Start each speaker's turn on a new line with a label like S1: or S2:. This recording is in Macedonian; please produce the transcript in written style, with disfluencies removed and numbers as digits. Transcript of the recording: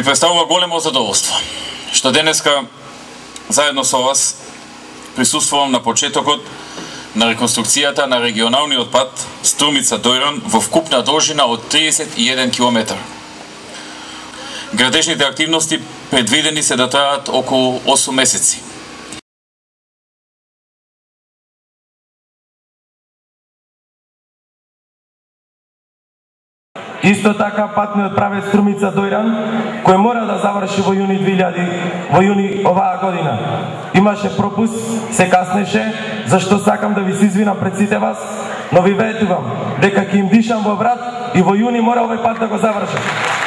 S1: представува големо задоволство што денеска заедно со вас присуствувам на почетокот на реконструкцијата на регионалниот пат Струмица-Дојран во вкупна должина од 31 км. Градежните активности предвидени се да траат околу 8 месеци.
S2: Исто така патниот правец Струмица-Дојран, кој мора да заврши во јуни оваа година. Имаше пропуст, се каснеше, зашто сакам да ви се извинам пред сите вас, но ви ветувам дека ќе им дишам во врат и во јуни мора овој пат да го завршам.